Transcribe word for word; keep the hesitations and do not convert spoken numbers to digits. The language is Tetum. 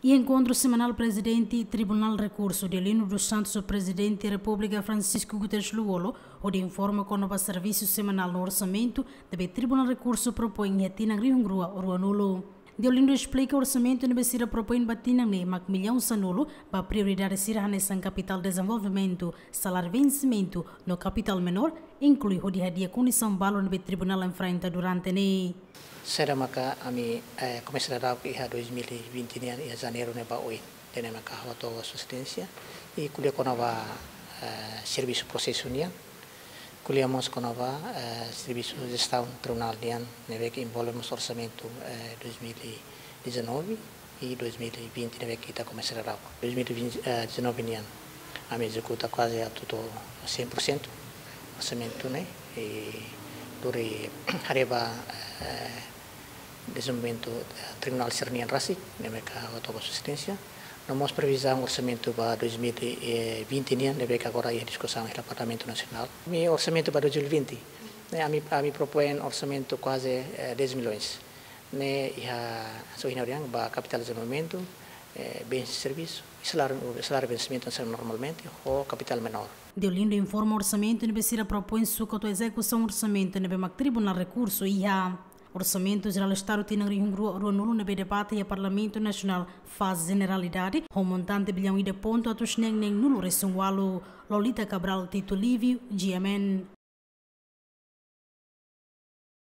Iha enkontru semanál, Prezidente Tribunál Rekursu, Deolino dos Santos, Prezidente Repúblika Francisco Guterres Lú-Olo, hodi informa kona-ba servisu semanál no orsamentu ne'ebé Tribunál Rekursu propoin iha tinan rihun rua ruanulu. Deolino esplika orsamentu ne'ebé sira propoin ba tinan ne'e mak millaun sanulu ba prioridade sira hanesan kapitál dezenvolvimentu, saláriu vensimentu no kapitál menór, inklui hodi hadi'a kondisaun balu ne'ebé tribunál enfrenta durante ne'e. Saida maka ami, eh, komesa dadauk iha dois mil e vinte nian, iha Janeiru ne'e ba oin. Ida-ne'e maka ha'u hato'o Sua Exelénsia, i ko'alia kona-ba, eh, servisu prosesu nian, ko'alia mós kona-ba, eh, servisu jestaun tribunál nian, ne'ebé ke envolve mós orsamentu, eh, dois mil e dezanove i dois mil e vinte ne'ebé ke ita komesa dadauk. Dois mil e vinte, eh, dezanove nian, ami ezekuta kuaze atu to'o cem por cento orsamentu ne'e, i lori haree ba, eh, dezenvolvimentu, eh, tribunál sira-nian rasik, ne'ebé ke ha'u hato'o ba Sua Exelénsia. No mós previzaun orsamentu ba dois mil e vinte nian, ne'ebé ke agora iha diskusaun iha Parlamentu Nasionál. Ami orsamentu ba dois mil e vinte, ne'e ami, ami propoin orsamentu kuaze, eh, dez milhões. Ne'e iha, só iha ne'e dehan ba kapitál dezenvolvimentu, eh, bens e servisu, saláriu, saláriu vensimentu hanesan normalmente, ho kapitál menór. Deolindo informa orsamentu ne'ebé sira propoin sukat ho ezekusaun orsamentu ne'ebé mak Tribunál Rekursu iha. Orsamentu Jerál Estadu tinan rihun rua ruanulu ne'ebé debate iha Parlamentu Nasionál faze jeneralidade, ho montante billaun ida pontu atus neen neen nulu resin ualu. Lolita Cabral, Tito Livio, G M N.